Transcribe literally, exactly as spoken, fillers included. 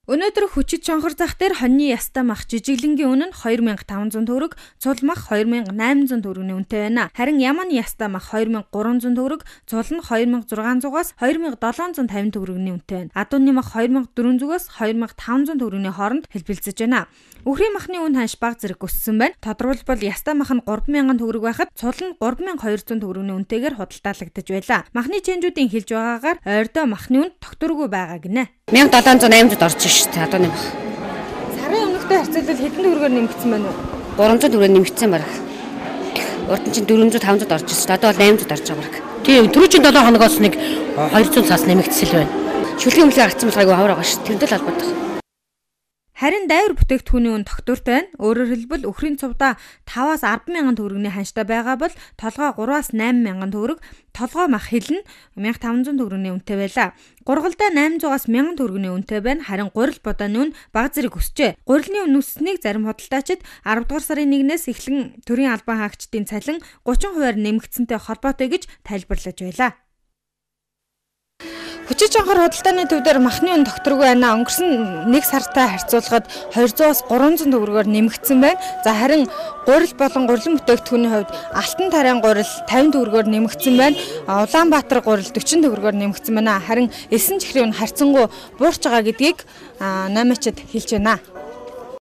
Өнөөдөр хүчит чонхор зах дээр хоньны ястаа мах жижиглэнгийн үнэ нь хоёр мянга таван зуун төгрөг, цул мах хоёр мянга найман зуун төгрөгийн үнэтэй байна. Харин яман ястаа мах хоёр мянга гурван зуун төгрөг, цул нь хоёр мянга зургаан зугаас хоёр мянга долоон зуун тавин төгрөгийн үнэтэй байна. Адууны мах хоёр мянга дөрвөн зугаас хоёр мянга таван зуун төгрөгийн хооронд хэлбэлцэж байна. Үхрийн махны үн ханш баг зэрэг өссөн байна. Тодорхойлбол ястаа мах нь гурван мянган төгрөг байхад цул нь гурван мянга хоёр зуун төгрөгийн үнэтэйгээр худалдаалагдаж байлаа. Махны чэнжүүдийн хэлж байгаагаар ойрдоо махны үн тогтворгүй байгаа гинэ. мянга долоон зуун аймагт орж шүү дээ. Адууны мах. Сарын өмнөхтэй харьцуулбал хэдэн төгрөгөөр нэмэгдсэн байна уу? гурван зуун төгрөөр нэмэгдсэн баг. Урд нь чинь дөрвөн зуун таван зуун орж ирсэн. Одоо бол найман зуун орж байгаа баг. Тийм түрүү чинь долоо хоногоос нэг хоёр зуун цаас нэмэгдсэл байна. Шүлгийн өмлөг гаргацсан бол айгүй хавар байгаа шүү. Тэрнтэй л холбоотой. Харин дайвар бүтээгдэхүүний үн тогтвортой байна. Өөрөөр хэлбэл үхрийн цувдаа таваас арван мянган төгрөгийн ханштай байгаа бол толгой гураваас найман мянган төгрөг, толгой мах хил нь мянга таван зуун төгрөгийн үнэтэй байлаа. Гургалдаа найман зугаас мянган төгрөгийн үнэтэй байна. Харин гурил бодааны үн бага зэрэг өсчээ. Гурилны үн өссөнийг зарим худалдаачид аравдугаар сарын нэгнээс эхлэн төрийн албан хаагчдын цалин гучин хувиар нэмэгдсэнтэй холбоотой гэж тайлбарлаж байлаа. Хүчит чонхор худалдааны төв дээр махны үн тогтворгүй байна. Өнгөрсөн нэг сартай харьцуулахад хоёрдугаас гурван зуун төгрөгөөр нэмэгдсэн байна. За харин гурил болон гурилан бүтээгдэхүүний хувьд Алтан тарайн гурил тавин төгрөгөөр нэмэгдсэн байна. Улаанбаатар гурил дөрвөн төгрөгөөр нэмэгдсэн байна. Харин Эсэн чихрийн үн харьцангуй буурч байгаа гэдгийг намаачид хэлж байна.